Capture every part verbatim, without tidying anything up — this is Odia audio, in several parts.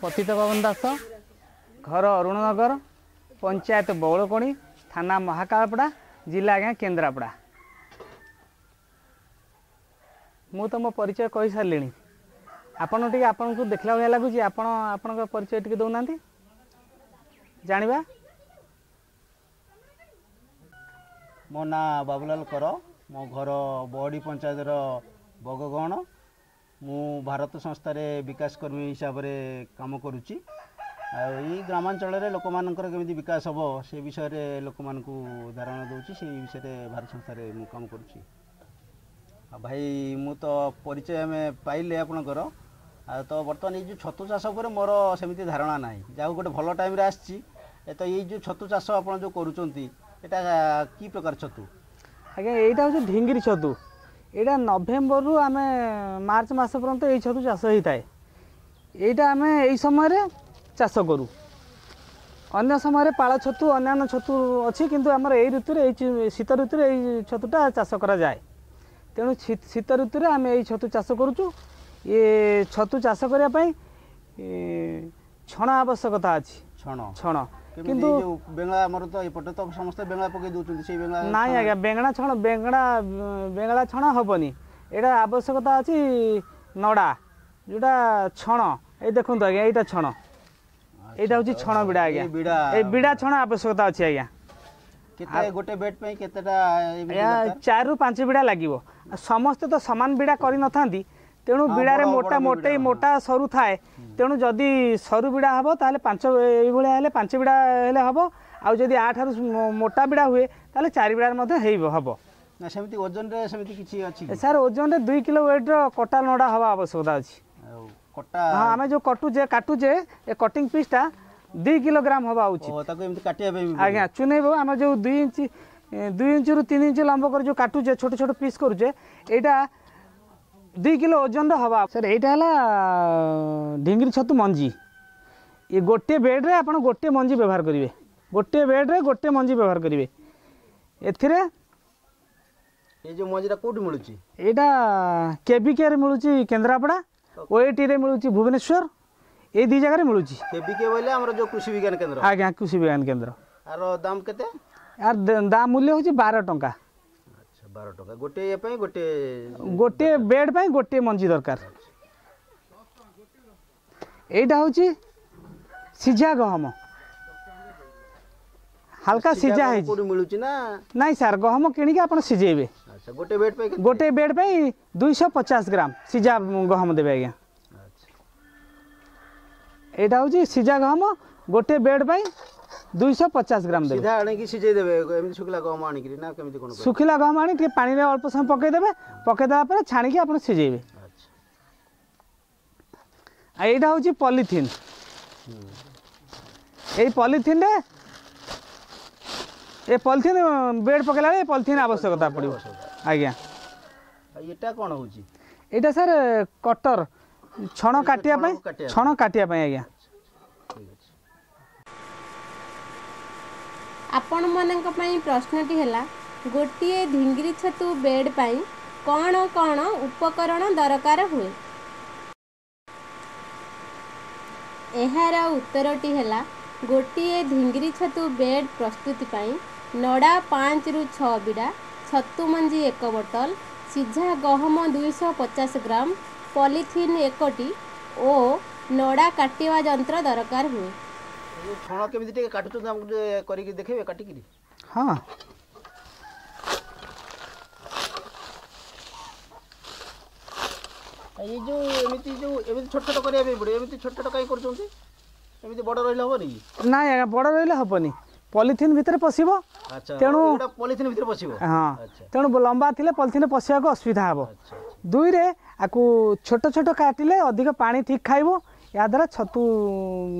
ପତିତ ପବନ ଦାସ, ଘର ଅରୁଣନଗର, ପଞ୍ଚାୟତ ବଉଳକୋଣି, ଥାନା ମହାକାଳପଡ଼ା, ଜିଲ୍ଲା ଆଜ୍ଞା କେନ୍ଦ୍ରାପଡ଼ା। ମୁଁ ତ ମୋ ପରିଚୟ କହିସାରିଲିଣି। ଆପଣ ଟିକେ ଆପଣଙ୍କୁ ଦେଖିଲା ଭଳିଆ ଲାଗୁଛି, ଆପଣ ଆପଣଙ୍କ ପରିଚୟ ଟିକେ ଦେଉନାହାନ୍ତି ଜାଣିବା। ମୋ ନାଁ ବାବୁଲାଲ କର, ମୋ ଘର ବହଡ଼ି ପଞ୍ଚାୟତର ବଗଗଣ। ମୁଁ ଭାରତ ସଂସ୍ଥାରେ ବିକାଶ କର୍ମୀ ହିସାବରେ କାମ କରୁଛି। ଆଉ ଏଇ ଗ୍ରାମାଞ୍ଚଳରେ ଲୋକମାନଙ୍କର କେମିତି ବିକାଶ ହେବ ସେ ବିଷୟରେ ଲୋକମାନଙ୍କୁ ଧାରଣା ଦେଉଛି, ସେଇ ବିଷୟରେ ଭାରତ ସଂସ୍ଥାରେ ମୁଁ କାମ କରୁଛି। ଆଉ ଭାଇ, ମୁଁ ତ ପରିଚୟ ଆମେ ପାଇଲେ ଆପଣଙ୍କର। ଆଉ ତ ବର୍ତ୍ତମାନ ଏଇ ଯେଉଁ ଛତୁ ଚାଷ ଉପରେ ମୋର ସେମିତି ଧାରଣା ନାହିଁ, ଯାହା ଗୋଟେ ଭଲ ଟାଇମ୍ରେ ଆସିଛି। ତ ଏଇ ଯେଉଁ ଛତୁ ଚାଷ ଆପଣ ଯେଉଁ କରୁଛନ୍ତି, ଏଇଟା କି ପ୍ରକାର ଛତୁ? ଆଜ୍ଞା, ଏଇଟା ହେଉଛି ଢିଙ୍ଗିରି ଛତୁ। ଏଇଟା ନଭେମ୍ବରରୁ ଆମେ ମାର୍ଚ୍ଚ ମାସ ପର୍ଯ୍ୟନ୍ତ ଏଇ ଛତୁ ଚାଷ ହେଇଥାଏ। ଏଇଟା ଆମେ ଏଇ ସମୟରେ ଚାଷ କରୁ। ଅନ୍ୟ ସମୟରେ ପାଳ ଛତୁ, ଅନ୍ୟାନ୍ୟ ଛତୁ ଅଛି, କିନ୍ତୁ ଆମର ଏଇ ଋତୁରେ, ଏଇ ଶୀତ ଋତୁରେ ଏଇ ଛତୁଟା ଚାଷ କରାଯାଏ। ତେଣୁ ଶୀତ ଋତୁରେ ଆମେ ଏଇ ଛତୁ ଚାଷ କରୁଛୁ। ଏ ଛତୁ ଚାଷ କରିବା ପାଇଁ ଛଣ ଆବଶ୍ୟକତା ଅଛି। ଛଣ? ଛଣ। କିନ୍ତୁ ବେଙ୍ଗଳା, ଆମର ତ ଏପଟେ ତ ସମସ୍ତେ ବେଙ୍ଗଳା ପକେଇ ଦେଉଛନ୍ତି, ସେଇ ବେଙ୍ଗଳା? ନାଇଁ ଆଜ୍ଞା, ବେଙ୍ଗଳା ଛଣ ବେଙ୍ଗଳା ବେଙ୍ଗଳା ଛଣ ହେବନି। ଏଇଟା ଆବଶ୍ୟକତା ଅଛି ନଡ଼ା, ଯେଉଁଟା ଛଣ। ଏଇ ଦେଖନ୍ତୁ ଆଜ୍ଞା, ଏଇଟା ଛଣ, ଏଇଟା ହେଉଛି ଛଣ ବିଡ଼ା ଆଜ୍ଞା। ଏଇ ବିଡ଼ା ଛଣ ଆବଶ୍ୟକତା ଅଛି ଆଜ୍ଞା। କେତେ ଗୋଟେ ବେଡ୍ ପାଇଁ କେତେଟା? ଚାରିରୁ ପାଞ୍ଚ ବିଡ଼ା ଲାଗିବ। ସମସ୍ତେ ତ ସମାନ ବିଡ଼ା କରିନଥାନ୍ତି, ତେଣୁ ବିଡ଼ାରେ ମୋଟା ମୋଟେଇ ମୋଟା ସରୁ ଥାଏ। ତେଣୁ ଯଦି ସରୁ ବିଡ଼ା ହେବ ତାହେଲେ ପାଞ୍ଚ, ଏଇଭଳିଆ ହେଲେ ପାଞ୍ଚ ବିଡ଼ା ହେଲେ ହେବ। ଆଉ ଯଦି ଆଠାରୁ ମୋଟା ବିଡ଼ା ହୁଏ ତାହେଲେ ଚାରି ବିଡ଼ାରେ ମଧ୍ୟ ହେଇ ହେବ। ସେମିତି ଓଜନରେ ସେମିତି କିଛି ଅଛି ସାର୍? ଓଜନରେ ଦୁଇ କିଲୋ ୱେଟ୍ର କଟା ନଡ଼ା ହେବା ଆବଶ୍ୟକତା ଅଛି। କଟା? ହଁ, ଆମେ ଯେଉଁ କଟୁଛେ କାଟୁଛେ, ଏ କଟିଂ ପିସ୍ଟା ଦୁଇ କିଲୋଗ୍ରାମ ହେବା ଉଚିତ। ତାକୁ ଏମିତି କାଟିବା ପାଇଁ ଆଜ୍ଞା ଚୁନେଇବ। ଆମେ ଯେଉଁ ଦୁଇ ଇଞ୍ଚ, ଦୁଇ ଇଞ୍ଚରୁ ତିନି ଇଞ୍ଚ ଲମ୍ବ କରି ଯେଉଁ କାଟୁଛେ, ଛୋଟ ଛୋଟ ପିସ୍ କରୁଛେ, ଏଇଟା ଦୁଇ କିଲୋ ଓଜନର ହେବା। ସାର୍, ଏଇଟା ହେଲା ଢିଙ୍ଗିରି ଛତୁ ମଞ୍ଜି। ଏ ଗୋଟିଏ ବେଡ଼୍ରେ ଆପଣ ଗୋଟିଏ ମଞ୍ଜି ବ୍ୟବହାର କରିବେ। ଗୋଟିଏ ବେଡ଼୍ରେ ଗୋଟିଏ ମଞ୍ଜି ବ୍ୟବହାର କରିବେ। ଏଥିରେ ଏଇ ଯେଉଁ ମଞ୍ଜିଟା କେଉଁଠି ମିଳୁଛି? ଏଇଟା କେବିକେରେ ମିଳୁଛି କେନ୍ଦ୍ରାପଡ଼ା, ଓଏଟିରେ ମିଳୁଛି ଭୁବନେଶ୍ୱର, ଏଇ ଦୁଇ ଜାଗାରେ ମିଳୁଛି। କେବିକେ ବୋଇଲେ ଆମର ଯେଉଁ କୃଷି ବିଜ୍ଞାନ କେନ୍ଦ୍ର? ଆଜ୍ଞା, କୃଷି ବିଜ୍ଞାନ କେନ୍ଦ୍ର। ଆର ଦାମ କେତେ? ଆର ଦାମ ମୂଲ୍ୟ ହେଉଛି ବାର ଟଙ୍କା। ଆଚ୍ଛା, ବାର ଟଙ୍କା ଗୋଟିଏ ପାଇଁ? ଗୋଟିଏ ଗୋଟିଏ ବେଡ୍ ପାଇଁ ଗୋଟିଏ ମଞ୍ଜି ଦରକାର। ଏଇଟା ହେଉଛି ସିଝା ଗହମ, ହାଲକା ସିଝା ହେଇଛି। ମିଳୁଛି ନା? ନାଇଁ ସାର୍, ଗହମ କିଣିକି ଆପଣ ସିଝେଇବେ। ଆଚ୍ଛା, ଗୋଟେ ବେଡ୍ ପାଇଁ? ଗୋଟେ ବେଡ୍ ପାଇଁ ଦୁଇଶହ ପଚାଶ ଗ୍ରାମ ସିଝା ଗହମ ଦେବେ ଆଜ୍ଞା। ଏଇଟା ହେଉଛି ସିଝା ଗହମ, ଗୋଟେ ବେଡ୍ ପାଇଁ ଦୁଇଶହ ପଚାଶ ଗ୍ରାମ ଦେବେ। ସିଧା ଆଣିକି ସିଝେଇ ଦେବେ ଏମିତି ଶୁଖିଲା ଗହମ ଆଣିକିରି, ନା କେମିତି କ'ଣ? ଶୁଖିଲା ଗହମ ଆଣି ଟିକେ ପାଣିରେ ଅଳ୍ପ ସମୟ ପକେଇଦେବେ, ପକେଇଦେଲା ପରେ ଛାଣିକି ଆପଣ ସିଝେଇବେ। ଆଉ ଏଇଟା ହେଉଛି ପଲିଥିନ୍। ଏଇ ପଲିଥିନ୍ରେ, ଏ ପଲିଥିନ୍ ବେଡ୍ ପକେଇଲା ବେଳେ ଏ ପଲିଥିନ୍ ଆବଶ୍ୟକତା ପଡ଼ିବ ଆଜ୍ଞା। ଏଇଟା କ'ଣ ହେଉଛି? ଏଇଟା ସାର୍ କଟର, ଛଣ କାଟିବା ପାଇଁ, ଛଣ କାଟିବା ପାଇଁ ଆଜ୍ଞା। ଆପଣମାନଙ୍କ ପାଇଁ ପ୍ରଶ୍ନଟି ହେଲା, ଗୋଟିଏ ଧିଙ୍ଗିରି ଛତୁ ବେଡ୍ ପାଇଁ କ'ଣ କ'ଣ ଉପକରଣ ଦରକାର ହୁଏ? ଏହାର ଉତ୍ତରଟି ହେଲା, ଗୋଟିଏ ଧିଙ୍ଗିରି ଛତୁ ବେଡ୍ ପ୍ରସ୍ତୁତି ପାଇଁ ନଡ଼ା ପାଞ୍ଚରୁ ଛଅ ବିଡ଼ା, ଛତୁ ମଞ୍ଜି ଏକ ବୋତଲ, ସିଝା ଗହମ ଦୁଇଶହ ପଚାଶ ଗ୍ରାମ, ପଲିଥିନ୍ ଏକଟି ଓ ନଡ଼ା କାଟିବା ଯନ୍ତ୍ର ଦରକାର ହୁଏ। ଛଣ କେମିତି ଟିକେ କାଟୁଛନ୍ତି ଆମକୁ ଟିକେ କରିକି ଦେଖେଇବେ କାଟିକିରି? ହଁ, ଏଇ ଯେଉଁ ଏମିତି ଯେଉଁ ଏମିତି ଛୋଟ ଛୋଟ କରିବା ପାଇଁ ପଡ଼ିବ, ଏମିତି ଛୋଟ ଛୋଟ କାହିଁ କରୁଛନ୍ତି? ଏମିତି ବଡ଼ ରହିଲେ ହେବନି କି? ନାଇଁ ଆଜ୍ଞା, ବଡ଼ ରହିଲେ ହେବନି, ପଲିଥିନ୍ ଭିତରେ ପଶିବ। ତେଣୁ ପଲିଥିନ୍ ଭିତରେ ପଶିବ? ହଁ, ତେଣୁ ଲମ୍ବା ଥିଲେ ପଲିଥିନ୍ ପଶିବାକୁ ଅସୁବିଧା ହେବ। ଦୁଇରେ ଆକୁ ଛୋଟ ଛୋଟ କାଟିଲେ ଅଧିକ ପାଣି ଠିକ୍ ଖାଇବ, ଏହାଦ୍ୱାରା ଛତୁ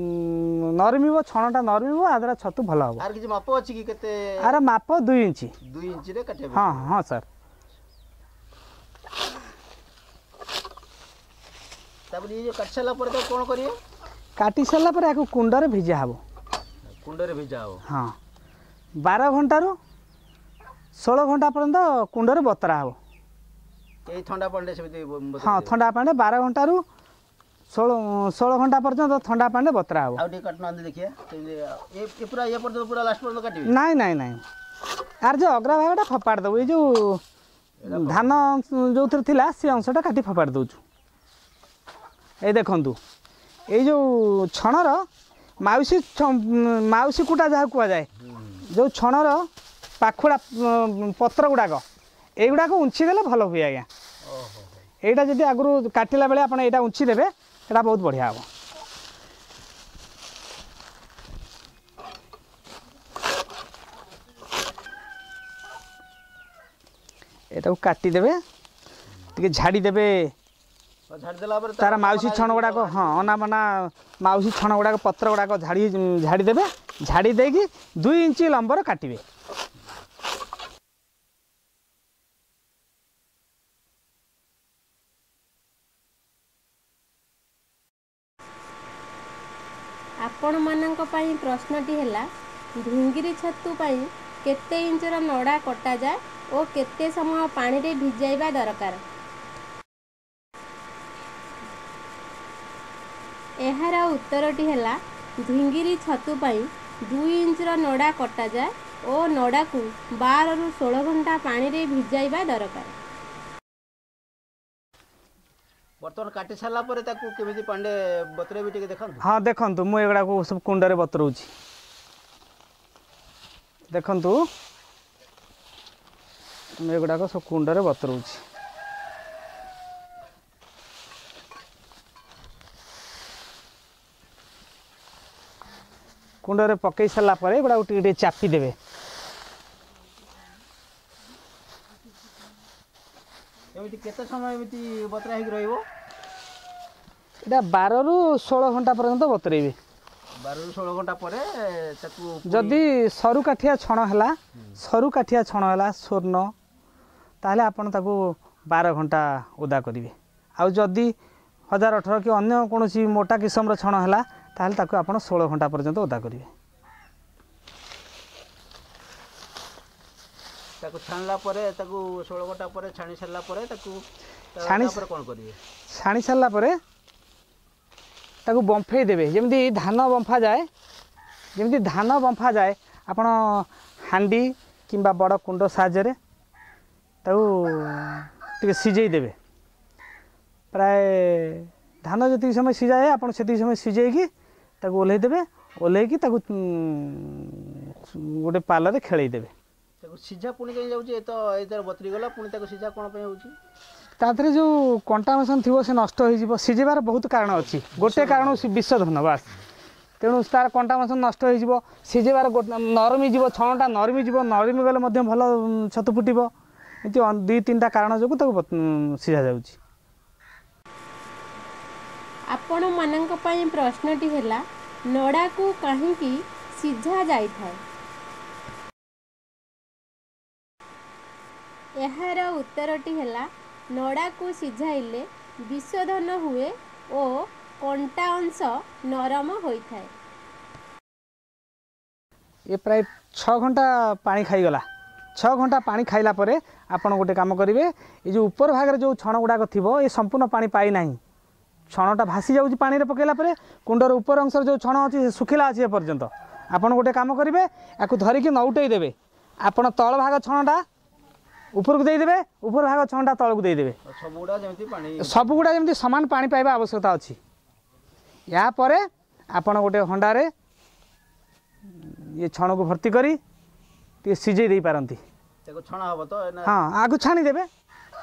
ନରମିବ, ଛଣଟା ନରମିବ, ଏହାଦ୍ୱାରା ଛତୁ ଭଲ ହେବ। ଆର କିଛି ମାପ ଅଛି କି କେତେ? ଆର ମାପ ଦୁଇ ଇଞ୍ଚ। ଦୁଇ ଇଞ୍ଚରେ କାଟିବା? ହଁ ହଁ ସାର୍। ତାପରେ ଇଏ କାଟି ସାରିଲା ପରେ ତାକୁ କ'ଣ କରିବେ? କାଟି ସାରିଲା ପରେ ଆକୁ କୁଣ୍ଡରେ ଭିଜା ହେବ। କୁଣ୍ଡରେ ଭିଜା ହେବ? ହଁ, ବାର ଘଣ୍ଟାରୁ ଷୋହଳ ଘଣ୍ଟା ପର୍ଯ୍ୟନ୍ତ କୁଣ୍ଡରେ ବତରା ହେବ। ଏଇ ଥଣ୍ଡା ପାଣିରେ ସେମିତି? ହଁ, ଥଣ୍ଡା ପାଣିରେ ବାର ଘଣ୍ଟାରୁ ଷୋହଳ ଷୋହଳ ଘଣ୍ଟା ପର୍ଯ୍ୟନ୍ତ ଥଣ୍ଡା ପାଣିରେ ବତରା ହେବ। ଆଉ ଟିକେ କାଟୁନାହାନ୍ତି ଦେଖିବା, ଏ ପୁରା ଇଏ ପର୍ଯ୍ୟନ୍ତ, ପୁରା ଲାଷ୍ଟ ପର୍ଯ୍ୟନ୍ତ କାଟିବେ? ନାଇଁ ନାଇଁ ନାଇଁ, ଆର ଯେଉଁ ଅଗ୍ରା ଭାଗଟା ଫୋପାଡ଼ି ଦେବୁ। ଏଇ ଯେଉଁ ଧାନ ଯେଉଁଥିରେ ଥିଲା ସେ ଅଂଶଟା କାଟି ଫୋପାଡ଼ି ଦେଉଛୁ। ଏଇ ଦେଖନ୍ତୁ, ଏଇ ଯେଉଁ ଛଣର ମାଉସୀ ମାଉସୀ କୁଟା ଯାହା କୁହାଯାଏ, ଯେଉଁ ଛଣର ପାଖୁଡ଼ା ପତ୍ର ଗୁଡ଼ାକ, ଏଇଗୁଡ଼ାକ ଉଞ୍ଚି ଦେଲେ ଭଲ ହୁଏ ଆଜ୍ଞା। ଏଇଟା ଯଦି ଆଗରୁ କାଟିଲା ବେଳେ ଆପଣ ଏଇଟା ଉଞ୍ଚି ଦେବେ, ସେଟା ବହୁତ ବଢ଼ିଆ ହେବ। ଏଟାକୁ କାଟିଦେବେ, ଟିକେ ଝାଡ଼ି ଦେବେ ତାର ମାଉସୀ ଛଣ ଗୁଡ଼ାକ। ହଁ, ଅନାବନା ମାଉସୀ ଛଣ ଗୁଡ଼ାକ, ପତ୍ର ଗୁଡ଼ାକ ଝାଡ଼ି ଝାଡ଼ି ଦେବେ। ଝାଡ଼ି ଦେଇକି ଦୁଇ ଇଞ୍ଚ ଲମ୍ବର କାଟିବେ। ଆପଣମାନଙ୍କ ପାଇଁ ପ୍ରଶ୍ନଟି ହେଲା, ଢିଙ୍ଗିରି ଛତୁ ପାଇଁ କେତେ ଇଞ୍ଚର ନଡ଼ା କଟାଯାଏ ଓ କେତେ ସମୟ ପାଣିରେ ଭିଜାଇବା ଦରକାର? ଏହାର ଉତ୍ତରଟି ହେଲା, ଢିଙ୍ଗିରି ଛତୁ ପାଇଁ ଦୁଇ ଇଞ୍ଚର ନଡ଼ା କଟାଯାଏ ଓ ନଡ଼ାକୁ ବାରରୁ ଷୋହଳ ଘଣ୍ଟା ପାଣିରେ ଭିଜାଇବା ଦରକାର। ବର୍ତ୍ତମାନ କାଟି ସାରିଲା ପରେ ତାକୁ କେମିତି ପାଣିରେ ବତୁରେଇବି ଟିକେ ଦେଖନ୍ତୁ। ହଁ, ଦେଖନ୍ତୁ, ମୁଁ ଏଗୁଡ଼ାକୁ ସବୁ କୁଣ୍ଡରେ ବତୁରଉଛି। ଦେଖନ୍ତୁ, ମୁଁ ଏଗୁଡ଼ାକ ସବୁ କୁଣ୍ଡରେ ବତୁରଉଛି। କୁଣ୍ଡରେ ପକେଇ ସାରିଲା ପରେ ଏଗୁଡ଼ାକୁ ଟିକେ ଟିକେ ଚାପି ଦେବେ। ଏମିତି କେତେ ସମୟ ଏମିତି ବତୁରା ହେଇକି ରହିବ? ଏଇଟା ବାରରୁ ଷୋହଳ ଘଣ୍ଟା ପର୍ଯ୍ୟନ୍ତ ବତୁରେଇବେ। ବାରରୁ ଷୋହଳ ଘଣ୍ଟା ପରେ ତାକୁ ଯଦି ସରୁ କାଠିଆ ଛଣ ହେଲା, ସରୁ କାଠିଆ ଛଣ ହେଲା ସ୍ୱର୍ଣ୍ଣ, ତାହେଲେ ଆପଣ ତାକୁ ବାର ଘଣ୍ଟା ଓଦା କରିବେ। ଆଉ ଯଦି ହଜାର ଅଠର କି ଅନ୍ୟ କୌଣସି ମୋଟା କିସମର ଛଣ ହେଲା, ତାହେଲେ ତାକୁ ଆପଣ ଷୋହଳ ଘଣ୍ଟା ପର୍ଯ୍ୟନ୍ତ ଓଦା କରିବେ। ତାକୁ ଛାଣିଲା ପରେ, ତାକୁ ଷୋହଳ ଘଣ୍ଟା ପରେ ଛାଣି ସାରିଲା ପରେ ତାକୁ ଛାଣି ପରେ କ'ଣ କରିବେ? ଛାଣି ସାରିଲା ପରେ ତାକୁ ବମ୍ଫେଇ ଦେବେ, ଯେମିତି ଧାନ ବମ୍ଫା ଯାଏ। ଯେମିତି ଧାନ ବମ୍ଫା ଯାଏ, ଆପଣ ହାଣ୍ଡି କିମ୍ବା ବଡ଼ କୁଣ୍ଡ ସାହାଯ୍ୟରେ ତାକୁ ଟିକେ ସିଝେଇ ଦେବେ। ପ୍ରାୟ ଧାନ ଯେତିକି ସମୟ ସିଝାଯାଏ, ଆପଣ ସେତିକି ସମୟ ସିଝେଇକି ତାକୁ ଓହ୍ଲେଇ ଦେବେ। ଓହ୍ଲେଇକି ତାକୁ ଗୋଟେ ପାଲରେ ଖେଳେଇ ଦେବେ। ତାକୁ ସିଝା ପୁଣି କାହିଁ ଯାଉଛି? ଏ ତ ଏ ତାର ବତୁରି ଗଲା, ପୁଣି ତାକୁ ସିଝା କ'ଣ ପାଇଁ ହେଉଛି? ତା ଦେହରେ ଯେଉଁ କଣ୍ଟାମିନେସନ୍ ଥିବ ସେ ନଷ୍ଟ ହେଇଯିବ। ସିଝେଇବାର ବହୁତ କାରଣ ଅଛି, ଗୋଟେ କାରଣ ବିଶୋଧନ ବାସ୍। ତେଣୁ ତାର କଣ୍ଟାମିନେସନ୍ ନଷ୍ଟ ହେଇଯିବ ସିଝେଇବାର, ନରମି ଯିବ, ଛଣଟା ନରମି ଯିବ। ନରମି ଗଲେ ମଧ୍ୟ ଭଲ ଛତୁ ଫୁଟିବ। ଏମିତି ଦୁଇ ତିନିଟା କାରଣ ଯୋଗୁଁ ତାକୁ ସିଝା ଯାଉଛି। ଆପଣମାନଙ୍କ ପାଇଁ ପ୍ରଶ୍ନଟି ହେଲା, ନଡ଼ାକୁ କାହିଁକି ସିଝା ଯାଇଥାଏ? ଏହାର ଉତ୍ତରଟି ହେଲା, ନଡ଼ାକୁ ସିଝାଇଲେ ବିଶୋଧନ ହୁଏ ଓ କଣ୍ଟା ଅଂଶ ନରମ ହୋଇଥାଏ। ଏ ପ୍ରାୟ ଛଅ ଘଣ୍ଟା ପାଣି ଖାଇଗଲା। ଛଅ ଘଣ୍ଟା ପାଣି ଖାଇଲା ପରେ ଆପଣ ଗୋଟେ କାମ କରିବେ। ଏ ଯେଉଁ ଉପର ଭାଗରେ ଯେଉଁ ଛଣ ଗୁଡ଼ାକ ଥିବ, ଏ ସମ୍ପୂର୍ଣ୍ଣ ପାଣି ପାଇନାହିଁ, ଛଣଟା ଭାସି ଯାଉଛି ପାଣିରେ ପକାଇଲା ପରେ। କୁଣ୍ଡର ଉପର ଅଂଶରେ ଯେଉଁ ଛଣ ଅଛି ସେ ଶୁଖିଲା ଅଛି ଏପର୍ଯ୍ୟନ୍ତ। ଆପଣ ଗୋଟେ କାମ କରିବେ, ୟାକୁ ଧରିକି ନଉଟେଇ ଦେବେ। ଆପଣ ତଳ ଭାଗ ଛଣଟା ଉପରକୁ ଦେଇଦେବେ, ଉପର ଭାଗ ଛଣଟା ତଳକୁ ଦେଇଦେବେ। ସବୁଗୁଡ଼ା ଯେମିତି ପାଣି, ସବୁଗୁଡ଼ା ଯେମିତି ସମାନ ପାଣି ପାଇବା ଆବଶ୍ୟକତା ଅଛି। ୟା ପରେ ଆପଣ ଗୋଟେ ହଣ୍ଡାରେ ଇଏ ଛଣକୁ ଭର୍ତ୍ତି କରି ଟିକେ ସିଝେଇ ଦେଇପାରନ୍ତି। ତାକୁ ଛଣା ହବ ତ? ହଁ, ଆଗକୁ ଛାଣିଦେବେ,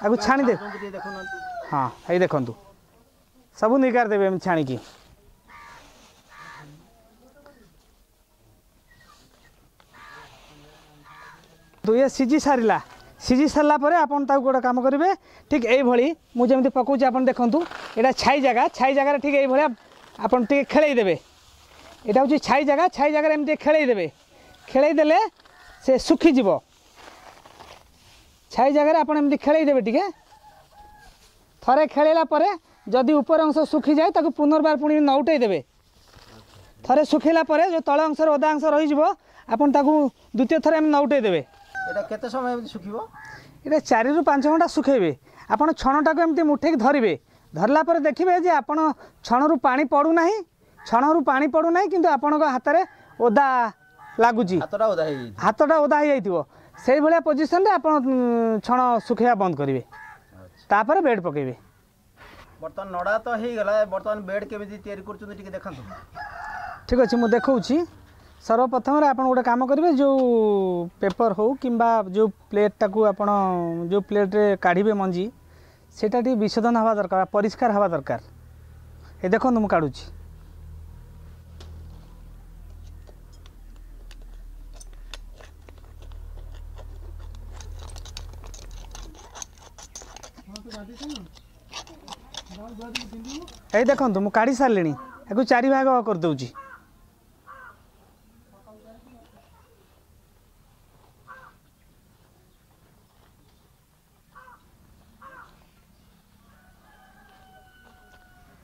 ଆଗକୁ ଛାଣିଦେବେ। ଟିକେ ଦେଖୁନାହାନ୍ତି। ହଁ, ଏଇ ଦେଖନ୍ତୁ, ସବୁ ନିଗାର ଦେବେ ଏମିତି ଛାଣିକି। ଇଏ ସିଝି ସାରିଲା। ସିଝି ସାରିଲା ପରେ ଆପଣ ତାକୁ ଗୋଟେ କାମ କରିବେ, ଠିକ୍ ଏଇଭଳି ମୁଁ ଯେମିତି ପକାଉଛି ଆପଣ ଦେଖନ୍ତୁ। ଏଇଟା ଛାଇ ଜାଗା, ଛାଇ ଜାଗାରେ ଠିକ୍ ଏଇଭଳିଆ ଆପଣ ଟିକେ ଖେଳେଇ ଦେବେ। ଏଇଟା ହେଉଛି ଛାଇ ଜାଗା, ଛାଇ ଜାଗାରେ ଏମିତି ଖେଳେଇ ଦେବେ। ଖେଳେଇ ଦେଲେ ସେ ଶୁଖିଯିବ। ଛାଇ ଜାଗାରେ ଆପଣ ଏମିତି ଖେଳେଇ ଦେବେ ଟିକେ। ଥରେ ଖେଳେଇଲା ପରେ ଯଦି ଉପର ଅଂଶ ଶୁଖିଯାଏ, ତାକୁ ପୁନର୍ବାର ପୁଣି ନଉଟେଇ ଦେବେ। ଥରେ ଶୁଖିଲା ପରେ ଯେଉଁ ତଳ ଅଂଶରେ ଓଦା ଅଂଶ ରହିଯିବ, ଆପଣ ତାକୁ ଦ୍ୱିତୀୟ ଥର ଏମିତି ନଉଟେଇ ଦେବେ। ଏଇଟା କେତେ ସମୟ ଏମିତି ଶୁଖିବ? ଏଇଟା ଚାରିରୁ ପାଞ୍ଚ ଘଣ୍ଟା ଶୁଖେଇବେ। ଆପଣ ଛଣଟାକୁ ଏମିତି ମୁଠେଇକି ଧରିବେ, ଧରିଲା ପରେ ଦେଖିବେ ଯେ ଆପଣ ଛଣରୁ ପାଣି ପଡ଼ୁନାହିଁ, ଛଣରୁ ପାଣି ପଡ଼ୁନାହିଁ, କିନ୍ତୁ ଆପଣଙ୍କ ହାତରେ ଓଦା ଲାଗୁଛି, ହାତଟା ଓଦା ହେଇଯାଇଛି, ହାତଟା ଓଦା ହେଇଯାଇଥିବ। ସେଇଭଳିଆ ପୋଜିସନରେ ଆପଣ ଛଣ ଶୁଖେଇବା ବନ୍ଦ କରିବେ, ତାପରେ ବେଡ଼୍ ପକାଇବେ। ବର୍ତ୍ତମାନ ନଡ଼ା ତ ହେଇଗଲା, ବର୍ତ୍ତମାନ ବେଡ଼୍ କେମିତି ତିଆରି କରୁଛନ୍ତି ଟିକେ ଦେଖାନ୍ତୁ। ଠିକ୍ ଅଛି, ମୁଁ ଦେଖାଉଛି। ସର୍ବପ୍ରଥମରେ ଆପଣ ଗୋଟେ କାମ କରିବେ, ଯେଉଁ ପେପର୍ ହେଉ କିମ୍ବା ଯେଉଁ ପ୍ଲେଟ୍ଟାକୁ ଆପଣ ଯେଉଁ ପ୍ଲେଟ୍ରେ କାଢ଼ିବେ ମଞ୍ଜି, ସେଇଟା ଟିକେ ବିଶୋଧନ ହେବା ଦରକାର, ପରିଷ୍କାର ହେବା ଦରକାର। ଏ ଦେଖନ୍ତୁ ମୁଁ କାଢ଼ୁଛି। ଏଇ ଦେଖନ୍ତୁ ମୁଁ କାଢ଼ି ସାରିଲିଣି, ଏକୁ ଚାରି ଭାଗ କରିଦେଉଛି।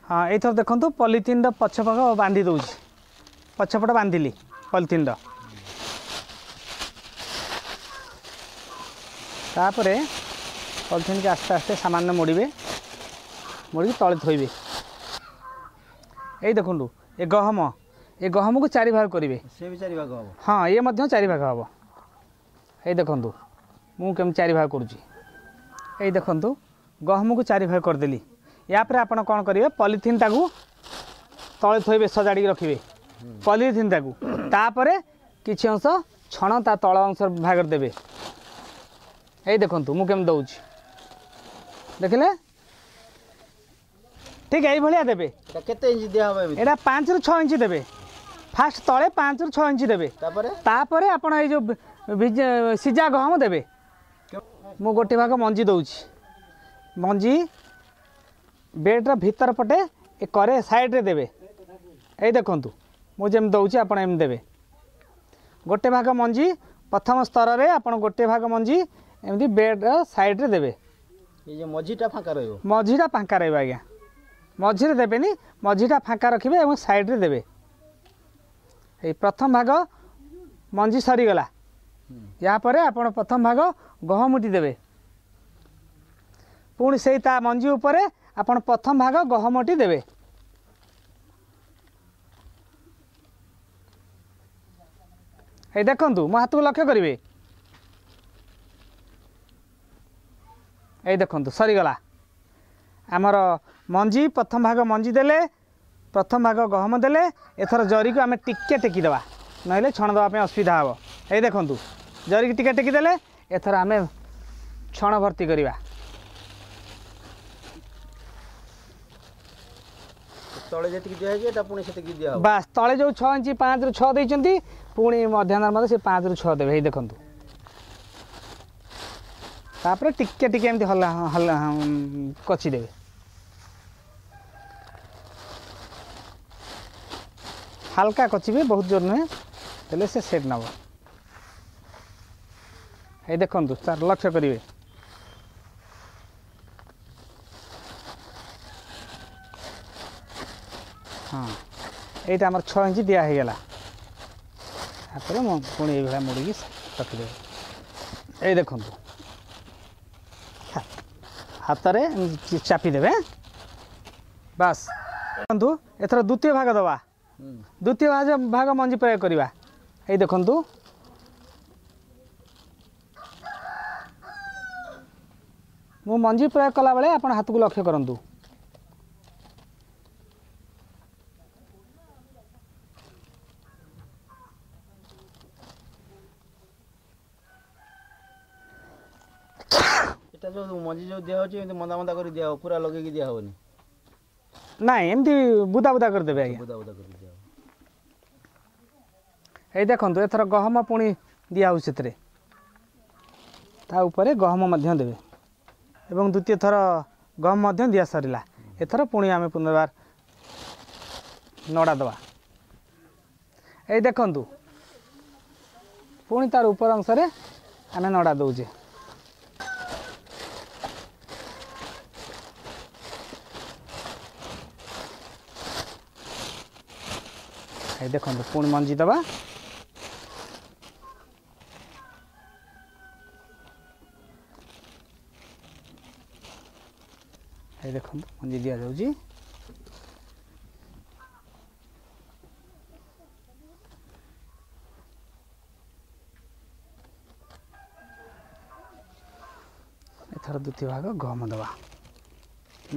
ହଁ, ଏଇଥର ଦେଖନ୍ତୁ ପଲିଥିନ୍ର ପଛପାଖ ବାନ୍ଧି ଦେଉଛି, ପଛପଟ ବାନ୍ଧିଲି ପଲିଥିନ୍ର। ତାପରେ ପଲିଥିନ୍କି ଆସ୍ତେ ଆସ୍ତେ ସାମାନ୍ୟ ମୋଡ଼ିବେ, ମୋଡ଼ିକି ତଳେ ଥୋଇବେ। ଏଇ ଦେଖନ୍ତୁ ଏ ଗହମ, ଏ ଗହମକୁ ଚାରି ଭାଗ କରିବେ। ସେ ବି ଚାରି ଭାଗ ହେବ? ହଁ, ଇଏ ମଧ୍ୟ ଚାରି ଭାଗ ହେବ। ଏଇ ଦେଖନ୍ତୁ ମୁଁ କେମିତି ଚାରି ଭାଗ କରୁଛି। ଏଇ ଦେଖନ୍ତୁ ଗହମକୁ ଚାରି ଭାଗ କରିଦେଲି। ୟା ପରେ ଆପଣ କ'ଣ କରିବେ, ପଲିଥିନ୍ଟାକୁ ତଳେ ଥୋଇବେ, ସଜାଡ଼ିକି ରଖିବେ ପଲିଥିନ୍ଟାକୁ। ତାପରେ କିଛି ଅଂଶ ଛଣ ତା ତଳ ଅଂଶ ଭାଗରେ ଦେବେ। ଏଇ ଦେଖନ୍ତୁ ମୁଁ କେମିତି ଦେଉଛି, ଦେଖିଲେ? ଠିକ୍ ଏଇଭଳିଆ ଦେବେ। କେତେ ଇଞ୍ଚ ଦିଆହେବ? ଏଇଟା ପାଞ୍ଚରୁ ଛଅ ଇଞ୍ଚ ଦେବେ। ଫାଷ୍ଟ ତଳେ ପାଞ୍ଚରୁ ଛଅ ଇଞ୍ଚ ଦେବେ, ତାପରେ ତାପରେ ଆପଣ ଏଇ ଯେଉଁ ସିଝା ଗହମ ଦେବେ। ମୁଁ ଗୋଟେ ଭାଗ ମଞ୍ଜି ଦେଉଛି, ମଞ୍ଜି ବେଡ଼୍ର ଭିତର ପଟେ ଏ କରେ ସାଇଡ଼୍ରେ ଦେବେ। ଏଇ ଦେଖନ୍ତୁ ମୁଁ ଯେମିତି ଦେଉଛି ଆପଣ ଏମିତି ଦେବେ। ଗୋଟେ ଭାଗ ମଞ୍ଜି ପ୍ରଥମ ସ୍ତରରେ ଆପଣ ଗୋଟେ ଭାଗ ମଞ୍ଜି ଏମିତି ବେଡ଼୍ର ସାଇଡ଼୍ରେ ଦେବେ। ଏଇ ଯେ ମଝିଟା ଫାଙ୍କା ରହିବ? ମଝିଟା ଫାଙ୍କା ରହିବ ଆଜ୍ଞା, ମଝିରେ ଦେବେନି, ମଝିଟା ଫାଙ୍କା ରଖିବେ ଏବଂ ସାଇଡ଼୍ରେ ଦେବେ। ଏଇ ପ୍ରଥମ ଭାଗ ମଞ୍ଜି ସରିଗଲା। ୟା ପରେ ଆପଣ ପ୍ରଥମ ଭାଗ ଗହମଟି ଦେବେ। ପୁଣି ସେଇ ତା ମଞ୍ଜି ଉପରେ ଆପଣ ପ୍ରଥମ ଭାଗ ଗହମଟି ଦେବେ। ଏଇ ଦେଖନ୍ତୁ ମୋ ହାତକୁ ଲକ୍ଷ୍ୟ କରିବେ। ଏଇ ଦେଖନ୍ତୁ ସରିଗଲା ଆମର ମଞ୍ଜି। ପ୍ରଥମ ଭାଗ ମଞ୍ଜି ଦେଲେ, ପ୍ରଥମ ଭାଗ ଗହମ ଦେଲେ। ଏଥର ଜରିକୁ ଆମେ ଟିକେ ଟେକିଦେବା, ନହେଲେ ଛଣ ଦେବା ପାଇଁ ଅସୁବିଧା ହେବ। ଏଇ ଦେଖନ୍ତୁ ଜରିକି ଟିକେ ଟେକିଦେଲେ, ଏଥର ଆମେ ଛଣ ଭର୍ତ୍ତି କରିବା। ତଳେ ଯେତିକି ଦିଆହେଇଛି ଏଟା ପୁଣି ସେତିକି ଦିଆହେବ? ବାସ୍, ତଳେ ଯେଉଁ ଛଅ ଇଞ୍ଚ ପାଞ୍ଚରୁ ଛଅ ଦେଇଛନ୍ତି, ପୁଣି ମଧ୍ୟାହ୍ନ ମଧ୍ୟ ସେ ପାଞ୍ଚରୁ ଛଅ ଦେବେ। ଏଇ ଦେଖନ୍ତୁ, ତାପରେ ଟିକେ ଟିକେ ଏମିତି ହଲା ହଲା କଚି ଦେବେ, ହାଲକା କଚିବେ, ବହୁତ ଜୋର ନୁହେଁ, ହେଲେ ସେ ସେଟ୍ ନେବ। ଏଇ ଦେଖନ୍ତୁ ସାର୍, ଲକ୍ଷ୍ୟ କରିବେ। ହଁ, ଏଇଟା ଆମର ଛଅ ଇଞ୍ଚ ଦିଆ ହେଇଗଲା। ତାପରେ ମୁଁ ପୁଣି ଏଇଭଳିଆ ମୋଡ଼ିକି ରଖିଦେବି। ଏଇ ଦେଖନ୍ତୁ ହାତରେ ଚାପି ଦେବେ, ବାସ୍। ଦେଖନ୍ତୁ ଏଥର ଦ୍ୱିତୀୟ ଭାଗ ଦେବା, ଦ୍ୱିତୀୟ ଭାଗ ଭାଗ ମଞ୍ଜି ପ୍ରୟୋଗ କରିବା। ଏଇ ଦେଖନ୍ତୁ ମୁଁ ମଞ୍ଜି ପ୍ରୟୋଗ କଲାବେଳେ ଆପଣ ହାତକୁ ଲକ୍ଷ୍ୟ କରନ୍ତୁ। ଏଟା ଯେଉଁ ମଞ୍ଜି ଯେଉଁ ଦିଆହେଉଛି ଏମିତି ମନ୍ଦା ମନ୍ଦା କରି ଦିଆହେବ, ପୁରା ଲଗେଇକି ଦିଆହେବନି? ନାଇଁ, ଏମିତି ବୁଦା ବୁଦା କରିଦେବେ ଆଜ୍ଞା, ବୁଦା ବୁଦା କରି ଦିଆହେବ। ଏଇ ଦେଖନ୍ତୁ ଏଥର ଗହମ ପୁଣି ଦିଆହେଉଛି ସେଥିରେ, ତା ଉପରେ ଗହମ ମଧ୍ୟ ଦେବେ। ଏବଂ ଦ୍ୱିତୀୟ ଥର ଗହମ ମଧ୍ୟ ଦିଆ ସରିଲା। ଏଥର ପୁଣି ଆମେ ପୁନର୍ବାର ନଡ଼ା ଦେବା। ଏଇ ଦେଖନ୍ତୁ ପୁଣି ତାର ଉପର ଅଂଶରେ ଆମେ ନଡ଼ା ଦେଉଛେ। ଏଇ ଦେଖନ୍ତୁ ପୁଣି ମଞ୍ଜି ଦେବା। ଏଇ ଦେଖନ୍ତୁ ମଞ୍ଜି ଦିଆଯାଉଛି। ଏଥର ଦ୍ୱିତୀୟ ଭାଗ ଗହମ ଦେବା।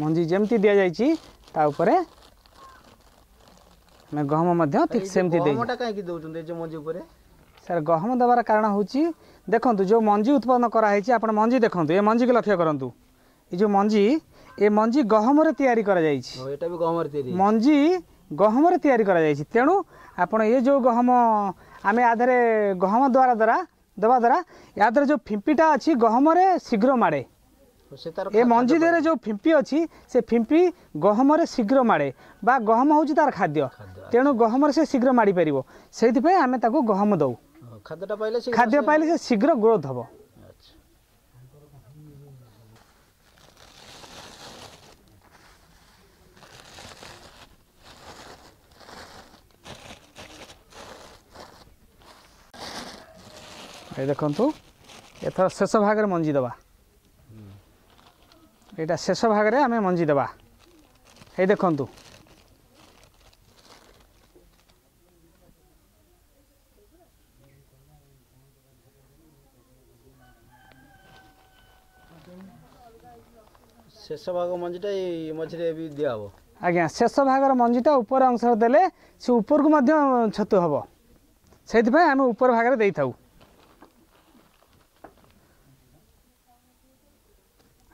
ମଞ୍ଜି ଯେମିତି ଦିଆଯାଇଛି ତା ଉପରେ ଆମେ ଗହମ ମଧ୍ୟ ଠିକ୍ ସେମିତି ଦେଇ ଗହମଟା କାହିଁକି ଦେଉଛନ୍ତି ଏ ଯେଉଁ ମଞ୍ଜି ଉପରେ? ସାର୍, ଗହମ ଦେବାର କାରଣ ହେଉଛି, ଦେଖନ୍ତୁ ଯେଉଁ ମଞ୍ଜି ଉତ୍ପନ୍ନ କରାହେଇଛି, ଆପଣ ମଞ୍ଜି ଦେଖନ୍ତୁ, ଏ ମଞ୍ଜିକୁ ଲକ୍ଷ୍ୟ କରନ୍ତୁ। ଏ ଯେଉଁ ମଞ୍ଜି, ଏ ମଞ୍ଜି ଗହମରେ ତିଆରି କରାଯାଇଛି। ଏଟା ବି ଗହମରେ ତିଆରି? ମଞ୍ଜି ଗହମରେ ତିଆରି କରାଯାଇଛି। ତେଣୁ ଆପଣ ଏ ଯେଉଁ ଗହମ ଆମେ ୟା ଦେହରେ ଗହମ ଦ୍ୱାରା ଦ୍ୱାରା ଦେବା ଦ୍ୱାରା ୟା ଦେହରେ ଯେଉଁ ଫିମ୍ପିଟା ଅଛି ଗହମରେ ଶୀଘ୍ର ମାଡ଼େ। ଏ ମଞ୍ଜି ଦେହରେ ଯେଉଁ ଫିମ୍ପି ଅଛି ସେ ଫିମ୍ପି ଗହମରେ ଶୀଘ୍ର ମାଡ଼େ, ବା ଗହମ ହେଉଛି ତାର ଖାଦ୍ୟ, ତେଣୁ ଗହମରେ ସେ ଶୀଘ୍ର ମାଡ଼ି ପାରିବ। ସେଇଥିପାଇଁ ଆମେ ତାକୁ ଗହମ ଦେଉ। ଖାଦ୍ୟଟା ପାଇଲେ, ଖାଦ୍ୟ ପାଇଲେ ସେ ଶୀଘ୍ର ଗ୍ରୋଥ୍ ହେବ। ଏ ଦେଖନ୍ତୁ, ଏଥର ଶେଷ ଭାଗରେ ମଞ୍ଜି ଦେବା। ଏଇଟା ଶେଷ ଭାଗରେ ଆମେ ମଞ୍ଜି ଦେବା। ଏଇ ଦେଖନ୍ତୁ, ଶେଷ ଭାଗ ମଞ୍ଜିଟା ଏଇ ମଝିରେ ବି ଦିଆହେବ? ଆଜ୍ଞା, ଶେଷ ଭାଗର ମଞ୍ଜିଟା ଉପର ଅଂଶରେ ଦେଲେ ସେ ଉପରକୁ ମଧ୍ୟ ଛତୁ ହେବ, ସେଇଥିପାଇଁ ଆମେ ଉପର ଭାଗରେ ଦେଇଥାଉ।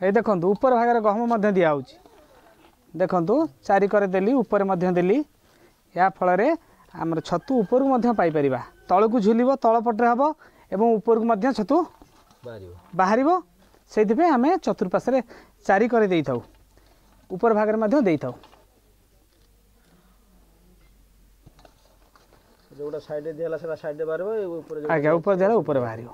ଏଇ ଦେଖନ୍ତୁ, ଉପର ଭାଗରେ ଗହମ ମଧ୍ୟ ଦିଆହେଉଛି। ଦେଖନ୍ତୁ, ଚାରିକରେ ଦେଲି, ଉପରେ ମଧ୍ୟ ଦେଲି। ଏହା ଫଳରେ ଆମର ଛତୁ ଉପରକୁ ମଧ୍ୟ ପାଇପାରିବା। ତଳକୁ ଝୁଲିବ, ତଳ ପଟରେ ହେବ ଏବଂ ଉପରକୁ ମଧ୍ୟ ଛତୁ ବାହାରିବ। ସେଇଥିପାଇଁ ଆମେ ଚତୁର୍ପାର୍ଶ୍ୱରେ ଚାରି କରି ଦେଇଥାଉ, ଉପର ଭାଗରେ ମଧ୍ୟ ଦେଇଥାଉ। ଯେଉଁଟା ସାଇଡ଼ରେ ଦିଆହେଲା ସେଟା ସାଇଡ଼ରେ ବାହାରିବ? ଆଜ୍ଞା, ଉପରେ ଦିଆହେଲା ଉପରେ ବାହାରିବ।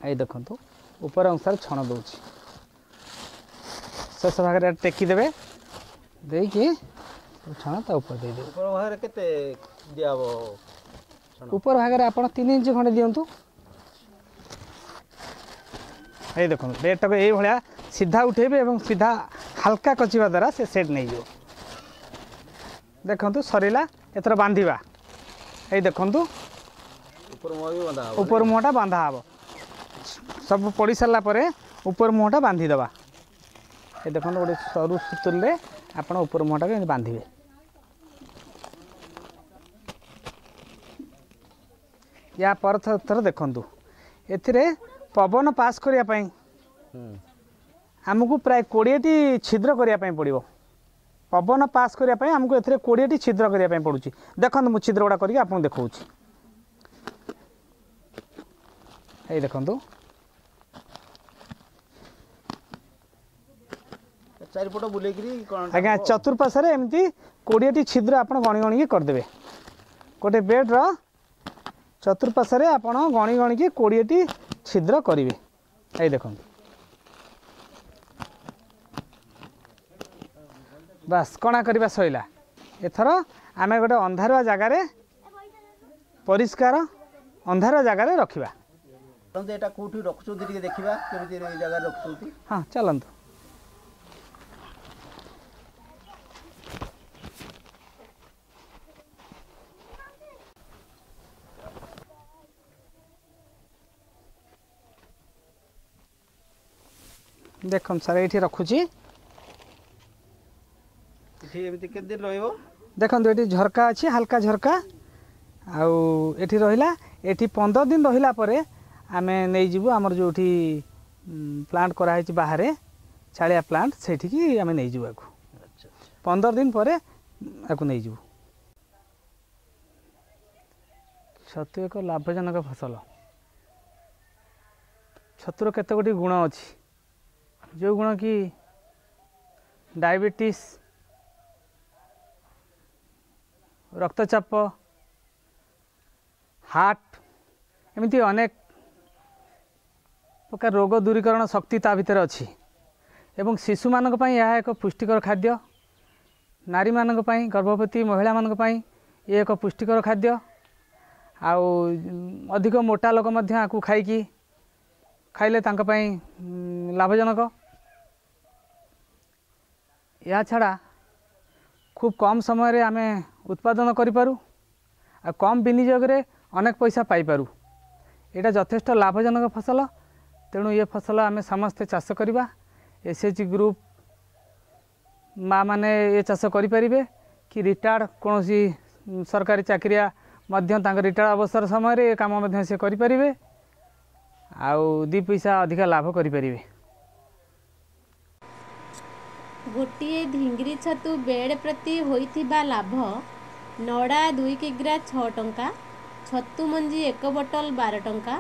ଏଇ ଦେଖନ୍ତୁ, ଉପର ଅଂଶରେ ଛଣ ଦେଉଛି। ଶେଷ ଭାଗରେ ଟେକି ଦେବେ, ଦେଇକି ଛଣ ତା ଉପରେ ଦେଇଦେବେ। ଉପର ଭାଗରେ କେତେ ଦିଆହବ? ଉପର ଭାଗରେ ଆପଣ ତିନି ଇଞ୍ଚ ଖଣ୍ଡେ ଦିଅନ୍ତୁ। ଏଇ ଦେଖନ୍ତୁ, ବେଡ଼ଟାକୁ ଏଇଭଳିଆ ସିଧା ଉଠେଇବେ ଏବଂ ସିଧା ହାଲକା କଚିବା ଦ୍ୱାରା ସେ ସେଟ୍ ନେଇଯିବ। ଦେଖନ୍ତୁ, ସରିଲା। ଏଥର ବାନ୍ଧିବା। ଏଇ ଦେଖନ୍ତୁ, ଉପର ମୁହଁଟା ବାନ୍ଧା ହେବ। ସବୁ ପଡ଼ି ସାରିଲା ପରେ ଉପର ମୁହଁଟା ବାନ୍ଧିଦେବା। ଏ ଦେଖନ୍ତୁ, ଗୋଟେ ସରୁ ସୁତୁଲିରେ ଆପଣ ଉପର ମୁହଁଟାକୁ ଏମିତି ବାନ୍ଧିବେ। ୟା ପର ଥର ଦେଖନ୍ତୁ, ଏଥିରେ ପବନ ପାସ୍ କରିବା ପାଇଁ ଆମକୁ ପ୍ରାୟ କୋଡ଼ିଏଟି ଛିଦ୍ର କରିବା ପାଇଁ ପଡ଼ିବ। ପବନ ପାସ୍ କରିବା ପାଇଁ ଆମକୁ ଏଥିରେ କୋଡ଼ିଏଟି ଛିଦ୍ର କରିବା ପାଇଁ ପଡ଼ୁଛି। ଦେଖନ୍ତୁ, ମୁଁ ଛିଦ୍ର ଗୁଡ଼ା କରିକି ଆପଣଙ୍କୁ ଦେଖାଉଛି। ଏଇ ଦେଖନ୍ତୁ, ଚାରିପଟ ବୁଲେଇକିରି? ଆଜ୍ଞା, ଚତୁର୍ପାର୍ଶ୍ୱରେ ଏମିତି କୋଡ଼ିଏଟି ଛିଦ୍ର ଆପଣ ଗଣି ଗଣିକି କରିଦେବେ। ଗୋଟେ ବେଡ଼୍ର ଚତୁର୍ପାର୍ଶ୍ୱରେ ଆପଣ ଗଣି ଗଣିକି କୋଡ଼ିଏଟି ଛିଦ୍ର କରିବେ। ଏଇ ଦେଖନ୍ତୁ, ବାସ୍, କଣା କରିବା ସରିଲା। ଏଥର ଆମେ ଗୋଟେ ଅନ୍ଧାରୁଆ ଜାଗାରେ, ପରିଷ୍କାର ଅନ୍ଧାରୁଆ ଜାଗାରେ ରଖିବା। ଏଇଟା କେଉଁଠି ରଖୁଛନ୍ତି ଟିକେ ଦେଖିବା, କେମିତି ଜାଗାରେ ରଖୁଛନ୍ତି? ହଁ, ଚାଲନ୍ତୁ। ଦେଖନ୍ତୁ ସାର୍, ଏଇଠି ରଖୁଛି। ଏଠି ଏମିତି କେତେ ଦିନ ରହିବ? ଦେଖନ୍ତୁ, ଏଠି ଝରକା ଅଛି, ହାଲକା ଝରକା, ଆଉ ଏଠି ରହିଲା। ଏଠି ପନ୍ଦର ଦିନ ରହିଲା ପରେ ଆମେ ନେଇଯିବୁ ଆମର ଯେଉଁଠି ପ୍ଲାଣ୍ଟ କରାହେଇଛି ବାହାରେ, ଚାଳିଆ ପ୍ଲାଣ୍ଟ, ସେଇଠିକି ଆମେ ନେଇଯିବୁ ଆକୁ। ପନ୍ଦର ଦିନ ପରେ ଆକୁ ନେଇଯିବୁ। ଛତୁ ଏକ ଲାଭଜନକ ଫସଲ। ଛତୁର କେତେ ଗୁଡ଼ିଏ ଗୁଣ ଅଛି, ଯେଉଁ ଗୁଣ କି ଡାଇବେଟିସ୍, ରକ୍ତଚାପ, ହାର୍ଟ, ଏମିତି ଅନେକ ପ୍ରକାର ରୋଗ ଦୂରୀକରଣ ଶକ୍ତି ତା ଭିତରେ ଅଛି। ଏବଂ ଶିଶୁମାନଙ୍କ ପାଇଁ ଏହା ଏକ ପୁଷ୍ଟିକର ଖାଦ୍ୟ। ନାରୀମାନଙ୍କ ପାଇଁ, ଗର୍ଭବତୀ ମହିଳାମାନଙ୍କ ପାଇଁ ଇଏ ଏକ ପୁଷ୍ଟିକର ଖାଦ୍ୟ। ଆଉ ଅଧିକ ମୋଟା ଲୋକ ମଧ୍ୟ ଆକୁ ଖାଇକି ଖାଇଲେ ତାଙ୍କ ପାଇଁ ଲାଭଜନକ। ଏହାଛଡ଼ା ଖୁବ୍ କମ୍ ସମୟରେ ଆମେ ଉତ୍ପାଦନ କରିପାରୁ ଆଉ କମ୍ ବିନିଯୋଗରେ ଅନେକ ପଇସା ପାଇପାରୁ। ଏଇଟା ଯଥେଷ୍ଟ ଲାଭଜନକ ଫସଲ। ତେଣୁ ଏ ଫସଲ ଆମେ ସମସ୍ତେ ଚାଷ କରିବା। ଏସ୍ ଏଚ୍ ଜି ଗ୍ରୁପ୍ ମା ମାନେ ଏ ଚାଷ କରିପାରିବେ କି ରିଟାୟାର୍ଡ଼ କୌଣସି ସରକାରୀ ଚାକିରିଆ ମଧ୍ୟ ତାଙ୍କ ରିଟାୟାର୍ଡ଼ ଅବସର ସମୟରେ ଏ କାମ ମଧ୍ୟ ସେ କରିପାରିବେ ଆଉ ଦୁଇ ପଇସା ଅଧିକା ଲାଭ କରିପାରିବେ। ଗୋଟିଏ ଧିଙ୍ଗିରି ଛତୁ ବେଡ଼୍ ପ୍ରତି ହୋଇଥିବା ଲାଭ: ନଡ଼ା ଦୁଇ କିଗ୍ରା ଛଅ ଟଙ୍କା, ଛତୁ ମଞ୍ଜି ଏକ ବୋତଲ ବାର ଟଙ୍କା,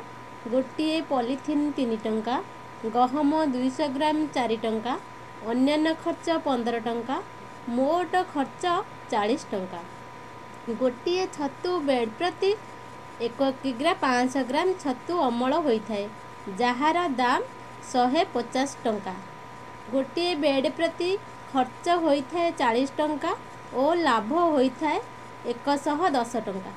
ଗୋଟିଏ ପଲିଥିନ୍ ତିନି ଟଙ୍କା, ଗହମ ଦୁଇଶହ ଗ୍ରାମ ଚାରି ଟଙ୍କା, ଅନ୍ୟାନ୍ୟ ଖର୍ଚ୍ଚ ପନ୍ଦର ଟଙ୍କା, ମୋଟ ଖର୍ଚ୍ଚ ଚାଳିଶ ଟଙ୍କା। ଗୋଟିଏ ଛତୁ ବେଡ଼୍ ପ୍ରତି ଏକ କିଗ୍ରା ପାଞ୍ଚଶହ ଗ୍ରାମ ଛତୁ ଅମଳ ହୋଇଥାଏ, ଯାହାର ଦାମ ଶହେ ପଚାଶ ଟଙ୍କା। ଗୋଟିଏ ବେଡ଼୍ ପ୍ରତି ଖର୍ଚ୍ଚ ହୋଇଥାଏ ଚାଳିଶ ଟଙ୍କା ଓ ଲାଭ ହୋଇଥାଏ ଏକଶହ ଦଶ ଟଙ୍କା।